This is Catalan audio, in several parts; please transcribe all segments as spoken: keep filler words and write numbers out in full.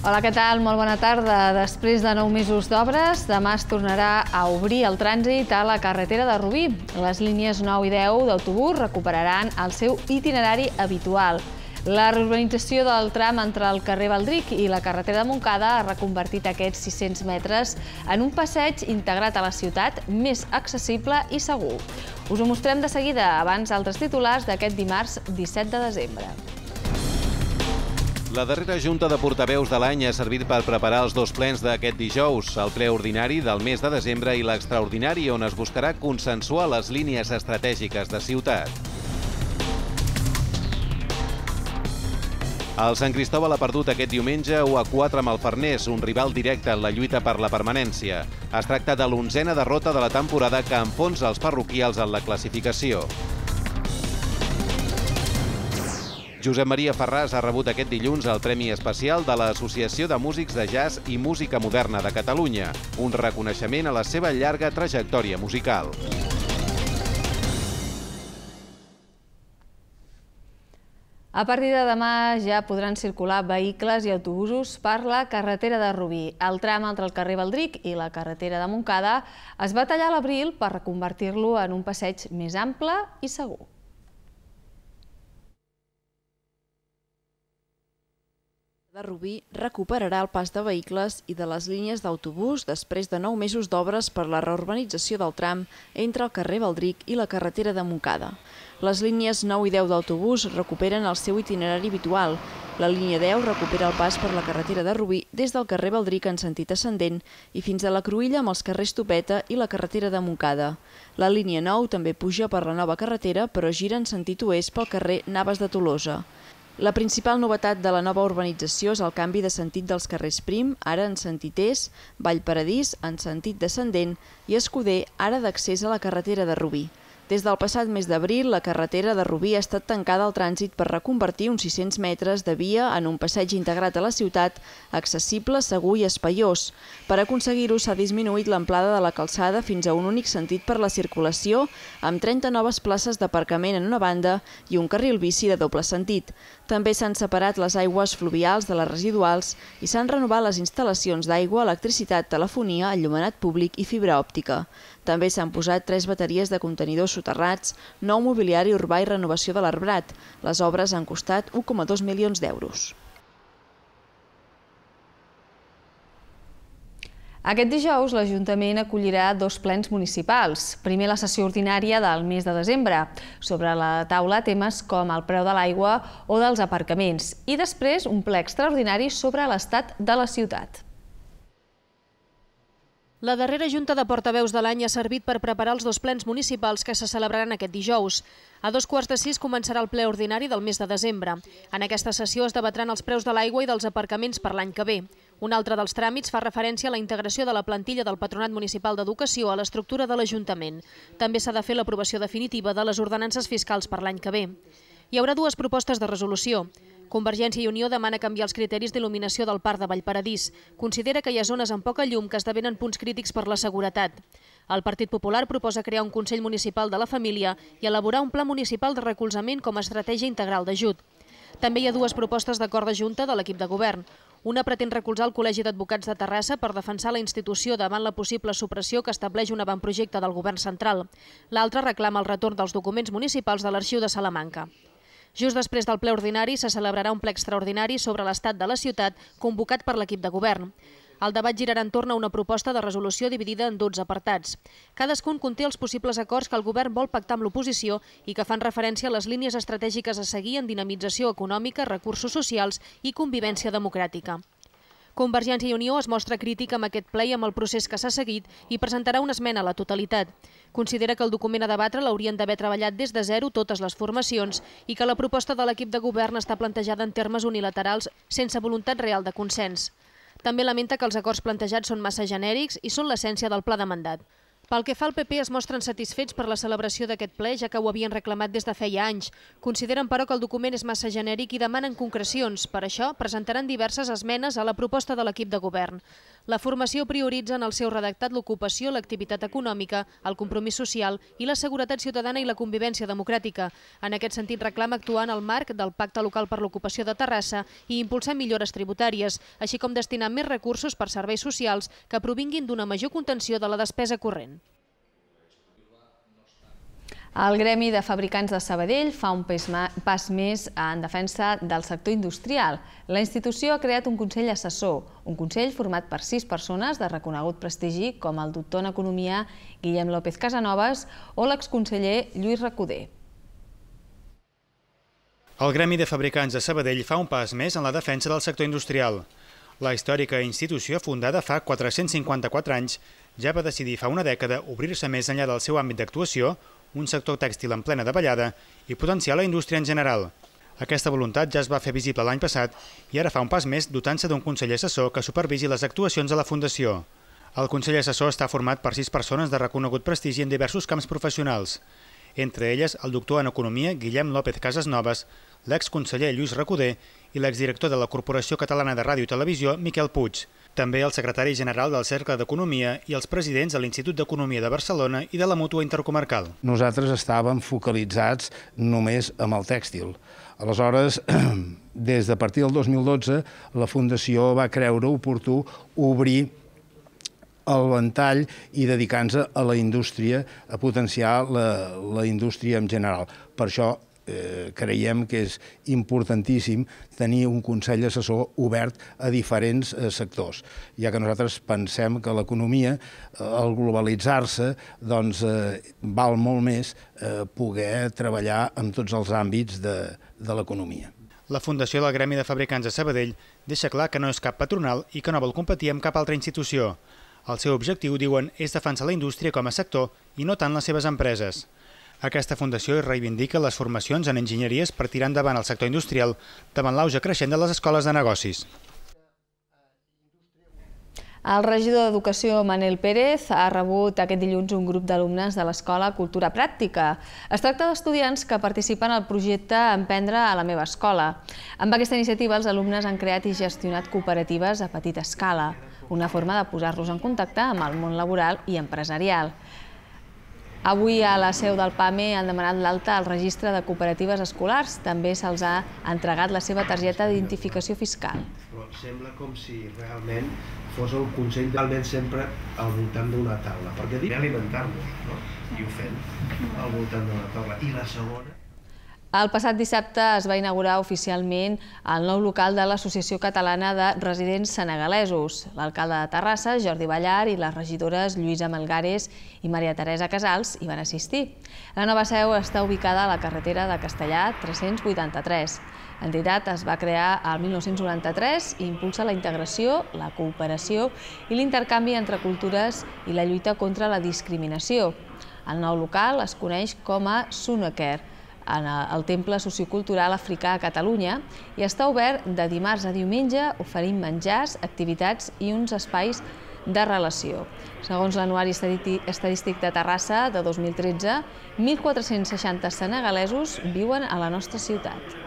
Hola, què tal? Molt bona tarda. Després de nou mesos d'obres, demà es tornarà a obrir el trànsit a la carretera de Rubí. Les línies nou i deu d'autobús recuperaran el seu itinerari habitual. La reurbanització del tram entre el carrer Baldric i la carretera de Montcada ha reconvertit aquests sis-cents metres en un passeig integrat a la ciutat més accessible i segur. Us ho mostrem de seguida, abans altres titulars d'aquest dimarts disset de desembre. La darrera junta de portaveus de l'any ha servit per preparar els dos plens d'aquest dijous, el ple ordinari del mes de desembre i l'extraordinari, on es buscarà consensuar les línies estratègiques de ciutat. El Sant Cristòbal ha perdut aquest diumenge u a quatre amb el Farners, un rival directe en la lluita per la permanència. Es tracta de l'onzena derrota de la temporada que enfonsa els parroquials en la classificació. Josep Maria Ferràs ha rebut aquest dilluns el Premi Especial de l'Associació de Músics de Jazz i Música Moderna de Catalunya, un reconeixement a la seva llarga trajectòria musical. A partir de demà ja podran circular vehicles i autobusos per la carretera de Rubí. El tram entre el carrer Baldric i la carretera de Montcada es va tallar a l'abril per reconvertir-lo en un passeig més ample i segur. de Rubí recuperarà el pas de vehicles i de les línies d'autobús després de nou mesos d'obres per la reurbanització del tram entre el carrer Baldric i la carretera de Montcada. Les línies nou i deu d'autobús recuperen el seu itinerari habitual. La línia deu recupera el pas per la carretera de Rubí des del carrer Baldric en sentit ascendent i fins a la Cruïlla amb els carrers Topeta i la carretera de Montcada. La línia nou també puja per la nova carretera però gira en sentit oest pel carrer Navas de Tolosa. La principal novetat de la nova urbanització és el canvi de sentit dels carrers Prim, ara en sentit est, Vallparadís, en sentit descendent, i Escuder, ara d'accés a la carretera de Rubí. Des del passat mes d'abril, la carretera de Rubí ha estat tancada al trànsit per reconvertir uns sis-cents metres de via en un passeig integrat a la ciutat, accessible, segur i espaiós. Per aconseguir-ho s'ha disminuït l'amplada de la calçada fins a un únic sentit per la circulació, amb trenta noves places d'aparcament en una banda i un carril bici de doble sentit. També s'han separat les aigües fluvials de les residuals i s'han renovat les instal·lacions d'aigua, electricitat, telefonia, enllumenat públic i fibra òptica. També s'han posat tres bateries de contenidors soterrats, nou mobiliari urbà i renovació de l'arbrat. Les obres han costat u coma dos milions d'euros. Aquest dijous l'Ajuntament acollirà dos plens municipals. Primer la sessió ordinària del mes de desembre, sobre la taula temes com el preu de l'aigua o dels aparcaments, i després un ple extraordinari sobre l'estat de la ciutat. La darrera junta de portaveus de l'any ha servit per preparar els dos plens municipals que se celebraran aquest dijous. A dos quarts de sis començarà el ple ordinari del mes de desembre. En aquesta sessió es debatran els preus de l'aigua i dels aparcaments per l'any que ve. Un altre dels tràmits fa referència a la integració de la plantilla del Patronat Municipal d'Educació a l'estructura de l'Ajuntament. També s'ha de fer l'aprovació definitiva de les ordenances fiscals per l'any que ve. Hi haurà dues propostes de resolució. Convergència i Unió demana canviar els criteris d'il·luminació del Parc de Vallparadís. Considera que hi ha zones amb poca llum que esdevenen punts crítics per la seguretat. El Partit Popular proposa crear un Consell Municipal de la Família i elaborar un pla municipal de recolzament com a estratègia integral d'ajut. També hi ha dues propostes d'acord de junta de l'equip de govern. Una pretén recolzar el Col·legi d'Advocats de Terrassa per defensar la institució davant la possible supressió que estableix un avantprojecte del govern central. L'altra reclama el retorn dels documents municipals de l'Arxiu de Salamanca. Just després del ple ordinari se celebrarà un ple extraordinari sobre l'estat de la ciutat convocat per l'equip de govern. El debat girarà entorn a una proposta de resolució dividida en dotze apartats. Cadascun conté els possibles acords que el govern vol pactar amb l'oposició i que fan referència a les línies estratègiques a seguir en dinamització econòmica, recursos socials i convivència democràtica. Convergència i Unió es mostra crítica amb aquest ple i amb el procés que s'ha seguit i presentarà una esmena a la totalitat. Considera que el document a debatre l'haurien d'haver treballat des de zero totes les formacions i que la proposta de l'equip de govern està plantejada en termes unilaterals sense voluntat real de consens. També lamenta que els acords plantejats són massa genèrics i són l'essència del pla de mandat. Pel que fa al P P, es mostren satisfets per la celebració d'aquest ple, ja que ho havien reclamat des de feia anys. Consideren, però, que el document és massa genèric i demanen concrecions. Per això, presentaran diverses esmenes a la proposta de l'equip de govern. La formació prioritza en el seu redactat l'ocupació, l'activitat econòmica, el compromís social i la seguretat ciutadana i la convivència democràtica. En aquest sentit, reclama actuar en el marc del Pacte Local per l'Ocupació de Terrassa i impulsar millores tributàries, així com destinar més recursos per serveis socials que provinguin d'una major contenció de la despesa corrent. El Gremi de Fabricants de Sabadell fa un pas més en defensa del sector industrial. La institució ha creat un Consell Assessor, un consell format per sis persones de reconegut prestigi, com el doctor en Economia Guillem López Casanovas o l'exconseller Lluís Recoder. El Gremi de Fabricants de Sabadell fa un pas més en la defensa del sector industrial. La històrica institució, fundada fa quatre-cents cinquanta-quatre anys, ja va decidir fa una dècada obrir-se més enllà del seu àmbit d'actuació, un sector tèxtil en plena davallada i potenciar la indústria en general. Aquesta voluntat ja es va fer visible l'any passat i ara fa un pas més dotant-se d'un Consell Assessor que supervisi les actuacions de la Fundació. El Consell Assessor està format per sis persones de reconegut prestigi en diversos camps professionals, entre elles el doctor en Economia Guillem López Casanovas, l'exconseller Lluís Recoder i l'exdirector de la Corporació Catalana de Ràdio i Televisió Miquel Puig, també el secretari general del Cercle d'Economia i els presidents de l'Institut d'Economia de Barcelona i de la Mútua Intercomarcal. Nosaltres estàvem focalitzats només amb el tèxtil. Aleshores, des de partir del dos mil dotze, la Fundació va creure oportú obrir el ventall i dedicar-nos a la indústria, a potenciar la, la indústria en general. Per això eh, creiem que és importantíssim tenir un Consell Assessor obert a diferents eh, sectors, ja que nosaltres pensem que l'economia, eh, al globalitzar-se, doncs, eh, val molt més eh, poder treballar en tots els àmbits de, de l'economia. La Fundació del Gremi de Fabricants de Sabadell deixa clar que no és cap patronal i que no vol competir amb cap altra institució. El seu objectiu, diuen, és defensar la indústria com a sector i no tant les seves empreses. Aquesta fundació reivindica les formacions en enginyeries per tirar endavant el sector industrial davant l'auge creixent de les escoles de negocis. El regidor d'Educació, Manel Pérez, ha rebut aquest dilluns un grup d'alumnes de l'Escola Cultura Pràctica. Es tracta d'estudiants que participen al projecte Emprendre a la meva escola. Amb aquesta iniciativa, els alumnes han creat i gestionat cooperatives a petita escala, una forma de posar-los en contacte amb el món laboral i empresarial. Avui a la seu del P A M E han demanat l'alta al registre de cooperatives escolars. També se'ls ha entregat la seva targeta d'identificació fiscal. Però sembla com si realment fos el Consell realment sempre al voltant d'una taula, perquè dic alimentar-nos, no? I ho fem al voltant d'una taula. I la segona... El passat dissabte es va inaugurar oficialment el nou local de l'Associació Catalana de Residents Senegalesos. L'alcalde de Terrassa, Jordi Ballar, i les regidores Lluïsa Melgares i Maria Teresa Casals hi van assistir. La nova seu està ubicada a la carretera de Castellar tres-cents vuitanta-tres. L'entitat es va crear el mil nou-cents noranta-tres i impulsa la integració, la cooperació i l'intercanvi entre cultures i la lluita contra la discriminació. El nou local es coneix com a Sunaker, en el Temple Sociocultural Africà a Catalunya, i està obert de dimarts a diumenge, oferint menjars, activitats i uns espais de relació. Segons l'Anuari Estadístic de Terrassa de dos mil tretze, mil quatre-cents seixanta senegalesos viuen a la nostra ciutat.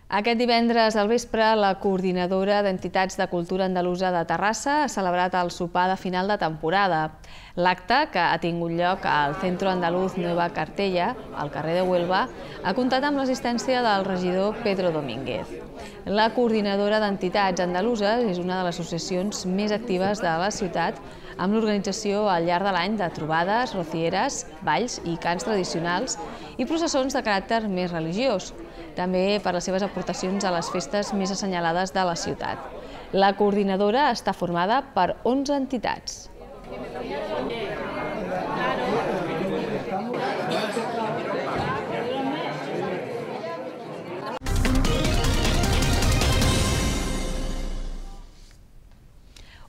Aquest divendres al vespre, la Coordinadora d'Entitats de Cultura Andalusa de Terrassa ha celebrat el sopar de final de temporada. L'acte, que ha tingut lloc al Centro Andaluz Nueva Cartella, al carrer de Huelva, ha comptat amb l'assistència del regidor Pedro Domínguez. La Coordinadora d'Entitats Andaluses és una de les associacions més actives de la ciutat, amb l'organització al llarg de l'any de trobades, rocieres, balls i cants tradicionals i processons de caràcter més religiós, també per les seves aportacions a les festes més assenyalades de la ciutat. La coordinadora està formada per onze entitats.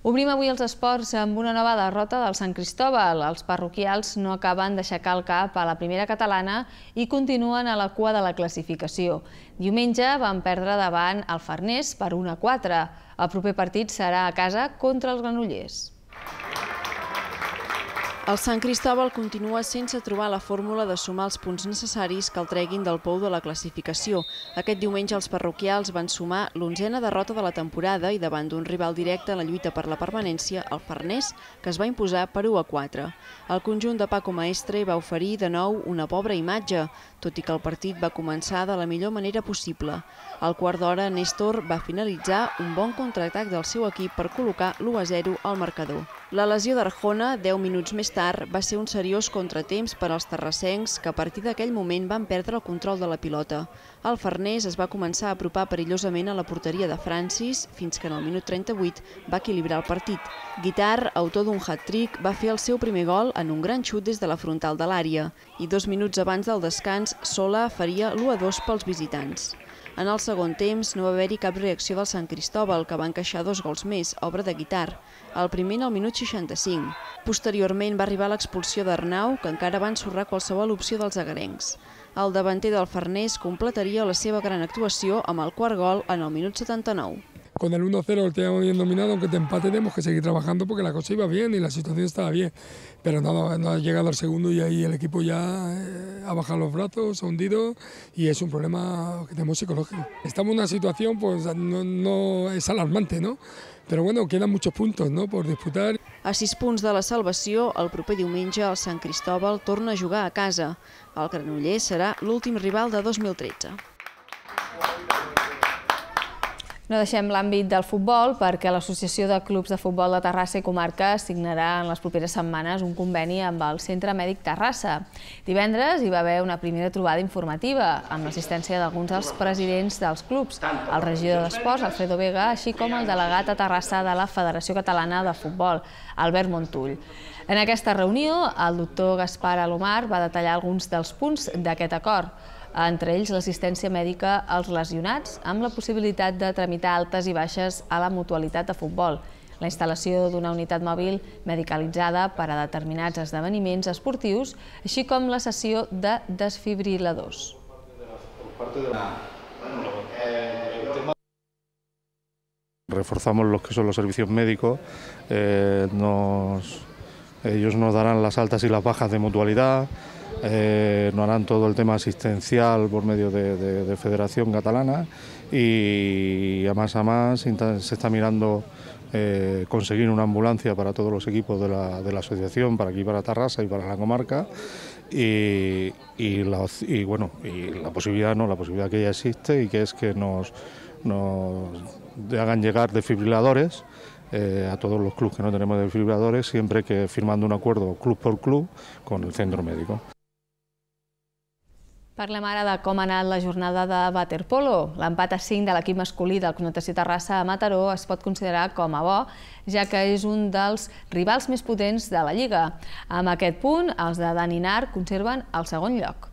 Obrim avui els esports amb una nova derrota del Sant Cristóbal. Els parroquials no acaben d'aixecar el cap a la primera catalana i continuen a la cua de la classificació. Diumenge van perdre davant el Farners per un a quatre. El proper partit serà a casa contra els Granollers. El Sant Cristòbal continua sense trobar la fórmula de sumar els punts necessaris que el treguin del pou de la classificació. Aquest diumenge els parroquials van sumar l'onzena derrota de la temporada i davant d'un rival directe en la lluita per la permanència, el Farners, que es va imposar per u a quatre. El conjunt de Paco Maestre va oferir de nou una pobra imatge, tot i que el partit va començar de la millor manera possible. Al quart d'hora, Néstor va finalitzar un bon contraatac del seu equip per col·locar l'u a zero al marcador. La lesió d'Arjona, deu minuts més tard, va ser un seriós contratemps per als terrassencs que a partir d'aquell moment van perdre el control de la pilota. El Farners es va començar a apropar perillosament a la porteria de Francis fins que en el minut trenta-vuit va equilibrar el partit. Guitar, autor d'un hat-trick, va fer el seu primer gol en un gran xut des de la frontal de l'àrea i dos minuts abans del descans Sola faria l'u a dos pels visitants. En el segon temps no va haver-hi cap reacció del Sant Cristòbal, que va encaixar dos gols més, obra de Guitar. El primer en el minut seixanta-cinc. Posteriorment va arribar l'expulsió d'Arnau, que encara va ensorrar qualsevol opció dels agarencs. El davanter del Farners completaria la seva gran actuació amb el quart gol en el minut setanta-nou. Con el uno a cero lo teníamos bien dominado, aunque te empate tenemos que seguir trabajando porque la cosa iba bien y la situación estaba bien. Pero no, no ha llegado al segundo y ahí el equipo ya eh, ha bajado los brazos, se ha hundido y es un problema que tenemos psicológico. Estamos en una situación, pues no, no es alarmante, ¿no? Però bueno, queden muchos puntos, ¿no?, por disputar. A sis punts de la salvació, el proper diumenge el Sant Cristòbal torna a jugar a casa. El Granollers serà l'últim rival de dos mil tretze. No deixem l'àmbit del futbol perquè l'Associació de Clubs de Futbol de Terrassa i Comarca signarà en les properes setmanes un conveni amb el Centre Mèdic Terrassa. Divendres hi va haver una primera trobada informativa amb l'assistència d'alguns dels presidents dels clubs, el regidor d'Esports, Alfredo Vega, així com el delegat a Terrassa de la Federació Catalana de Futbol, Albert Montull. En aquesta reunió, el doctor Gaspar Alomar va detallar alguns dels punts d'aquest acord, entre ells l'assistència mèdica als lesionats, amb la possibilitat de tramitar altes i baixes a la mutualitat de futbol, la instal·lació d'una unitat mòbil medicalitzada per a determinats esdeveniments esportius, així com la cessió de desfibriladors. Reforzamos lo que son los servicios médicos, eh, nos, ellos nos darán las altas y las bajas de mutualidad. Eh, nos harán todo el tema asistencial por medio de, de, de Federación Catalana y a más a más se está mirando eh, conseguir una ambulancia para todos los equipos de la, de la asociación, para aquí, para Terrassa y para la comarca y, y, la, y, bueno, y la posibilidad, no, la posibilidad que ya existe y que es que nos, nos hagan llegar desfibriladores Eh, a todos los clubes que no tenemos desfibriladores, siempre que firmando un acuerdo club por club con el centro médico. Parlem ara de com ha anat la jornada de waterpolo. L'empat a cinc de l'equip masculí del Club Natació Terrassa a Mataró es pot considerar com a bo, ja que és un dels rivals més potents de la Lliga. Amb aquest punt, els de Daninar conserven el segon lloc.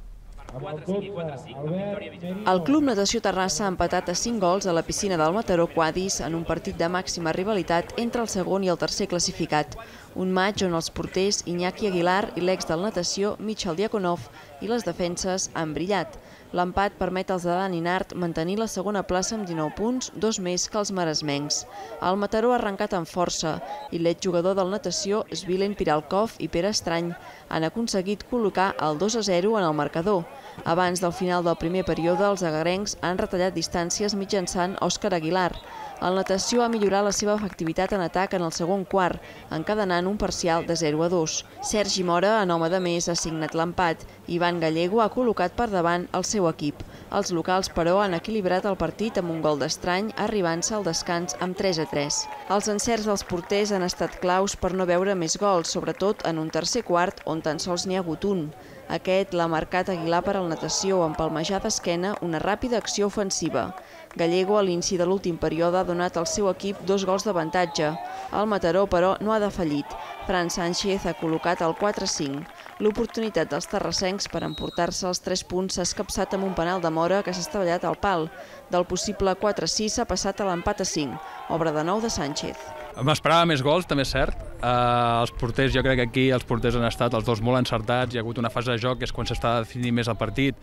El Club Natació Terrassa ha empatat a cinc gols a la piscina del Mataró Quadis en un partit de màxima rivalitat entre el segon i el tercer classificat. Un maig on els porters Iñaki Aguilar i l'ex del natació Michal Diakonov i les defenses han brillat. L'empat permet als de Dani Nart mantenir la segona plaça amb dinou punts, dos més que els maresmencs. El Mataró ha arrencat amb força i l'exjugador del natació Svilen Piralkov i Pere Estrany han aconseguit col·locar el dos a zero en el marcador. Abans del final del primer període, els agarencs han retallat distàncies mitjançant Òscar Aguilar. El natació ha millorat la seva efectivitat en atac en el segon quart, encadenant un parcial de zero a dos. Sergi Mora, en home de més, ha signat l'empat i Ivan Gallego ha col·locat per davant el seu equip. Els locals, però, han equilibrat el partit amb un gol d'Estrany, arribant-se al descans amb tres a tres. Els encerts dels porters han estat claus per no veure més gols, sobretot en un tercer quart on tan sols n'hi ha hagut un. Aquest l'ha marcat Aguilar per al natació, amb palmejar d'esquena una ràpida acció ofensiva. Gallego, a l'inici de l'últim període, ha donat al seu equip dos gols d'avantatge. El Mataró, però, no ha defallit. Fran Sánchez ha col·locat el quatre a cinc. L'oportunitat dels terrassencs per emportar-se els tres punts s'ha escapçat amb un penal de Mora que s'ha estavellat al pal. Del possible quatre a sis s'ha passat a l'empat a cinc, obra de nou de Sánchez. M'esperava més gols, també és cert. Uh, els porters, jo crec que aquí els porters han estat els dos molt encertats. Hi ha hagut una fase de joc que és quan s'està definint més el partit,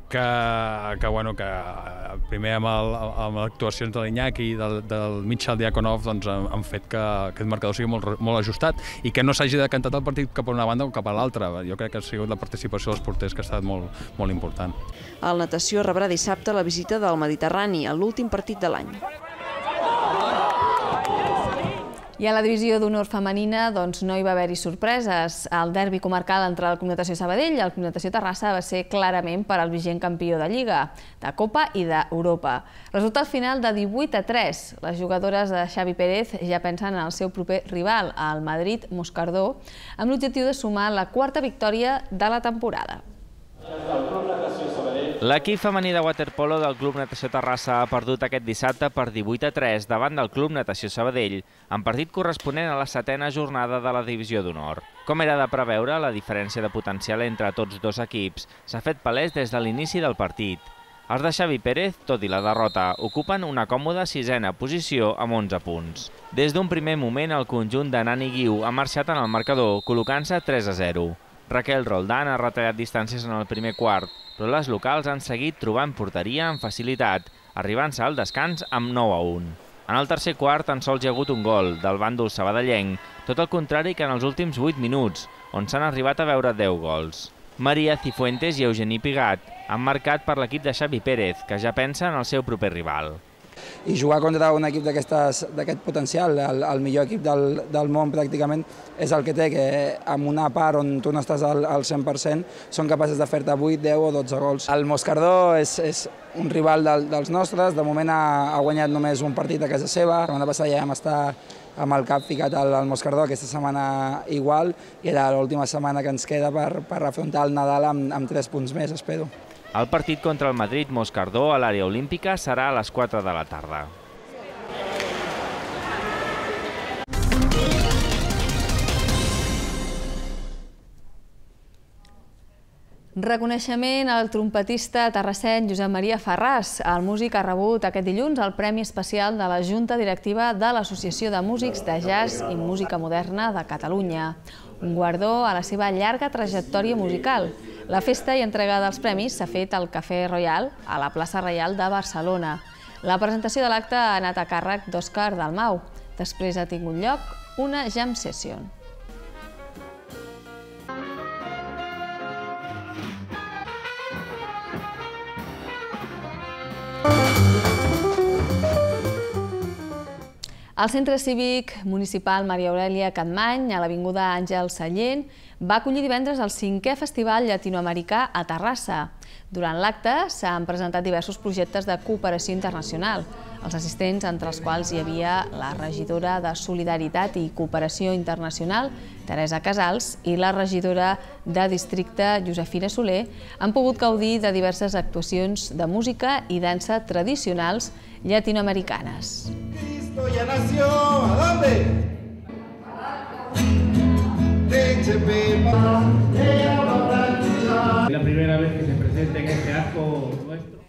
que, que, bueno, que primer amb, el, amb les actuacions de l'Iñaki i del, del Michal Diakonov doncs, han, han fet que aquest marcador sigui molt, molt ajustat i que no s'hagi decantat el partit cap a una banda o cap a l'altra. Jo crec que ha sigut la participació dels porters que ha estat molt, molt important. El Natació rebrà dissabte la visita del Mediterrani, a l'últim partit de l'any. I a la divisió d'honor femenina doncs, no hi va haver-hi sorpreses. El derbi comarcal entre el Club Natació Sabadell i el Club Natació Terrassa va ser clarament per al vigent campió de Lliga, de Copa i d'Europa. Resultat final de divuit a tres. Les jugadores de Xavi Pérez ja pensen en el seu proper rival, el Madrid Moscardó, amb l'objectiu de sumar la quarta victòria de la temporada. L'equip femení de waterpolo del Club Natació Terrassa ha perdut aquest dissabte per divuit a tres davant del Club Natació Sabadell, en partit corresponent a la setena jornada de la divisió d'honor. Com era de preveure, la diferència de potencial entre tots dos equips s'ha fet palès des de l'inici del partit. Els de Xavi Pérez, tot i la derrota, ocupen una còmoda sisena posició amb onze punts. Des d'un primer moment, el conjunt de Nani Guiu ha marxat en el marcador, col·locant-se tres a zero. Raquel Roldán ha retallat distàncies en el primer quart, però les locals han seguit trobant porteria amb facilitat, arribant-se al descans amb nou a un. En el tercer quart tan sols hi ha hagut un gol, del bàndol sabadellenc, tot el contrari que en els últims vuit minuts, on s'han arribat a veure deu gols. Maria Cifuentes i Eugeni Pigat han marcat per l'equip de Xavi Pérez, que ja pensa en el seu proper rival. I jugar contra un equip d'aquest potencial, el, el millor equip del, del món pràcticament, és el que té, que en una part on tu no estàs al, al cent per cent són capaces de fer-te vuit, deu o dotze gols. El Moscardó és, és un rival del, dels nostres, de moment ha, ha guanyat només un partit a casa seva. La setmana passada ja vam estar amb el cap ficat al, al Moscardó, aquesta setmana igual, i era l'última setmana que ens queda per, per afrontar el Nadal amb, amb tres punts més, espero. El partit contra el Madrid Moscardó a l'àrea olímpica serà a les quatre de la tarda. Reconeixement al trompetista terrassenc Josep Maria Farràs. El músic ha rebut aquest dilluns el Premi Especial de la Junta Directiva de l'Associació de Músics de Jazz i Música Moderna de Catalunya. Un guardó a la seva llarga trajectòria musical. La festa i entrega dels premis s'ha fet al Cafè Royal, a la plaça Reial de Barcelona. La presentació de l'acte ha anat a càrrec d'Òscar Dalmau. Després ha tingut lloc una jam session. El Centre Cívic Municipal Maria Aurèlia Capmany, a l'Avinguda Àngel Sallent, va acollir divendres el cinquè Festival Llatinoamericà a Terrassa. Durant l'acte s'han presentat diversos projectes de cooperació internacional. Els assistents, entre els quals hi havia la regidora de Solidaritat i Cooperació Internacional, Teresa Casals, i la regidora de Districte, Josefina Soler, han pogut gaudir de diverses actuacions de música i dansa tradicionals llatinoamericanes. Ya nació, ¿a dónde? La primera vez que se presenta en este arco nuestro.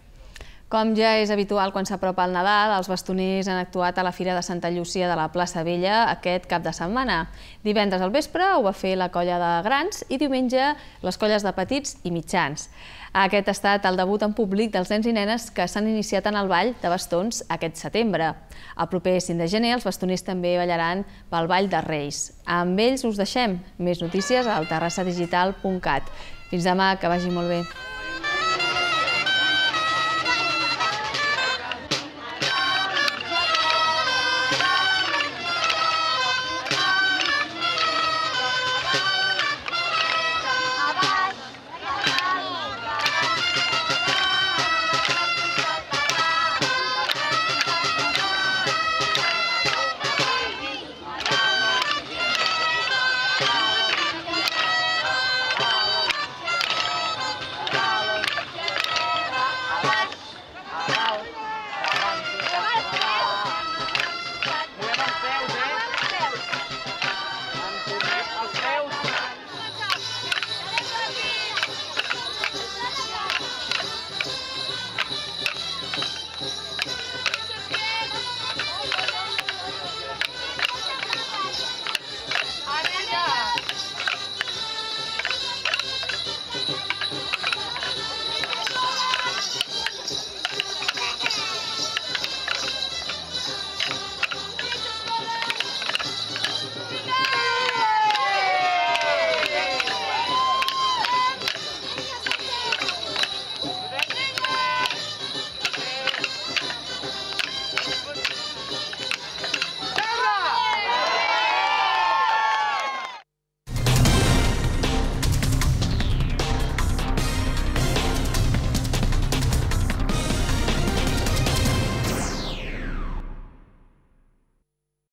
Com ja és habitual quan s'apropa el Nadal, els bastoners han actuat a la Fira de Santa Llúcia de la plaça Vella aquest cap de setmana. Divendres al vespre ho va fer la colla de grans i diumenge les colles de petits i mitjans. Aquest ha estat el debut en públic dels nens i nenes que s'han iniciat en el ball de bastons aquest setembre. El proper cinc de gener els bastoners també ballaran pel Ball de Reis. Amb ells us deixem. Més notícies al terrassa digital punt cat. Fins demà, que vagi molt bé.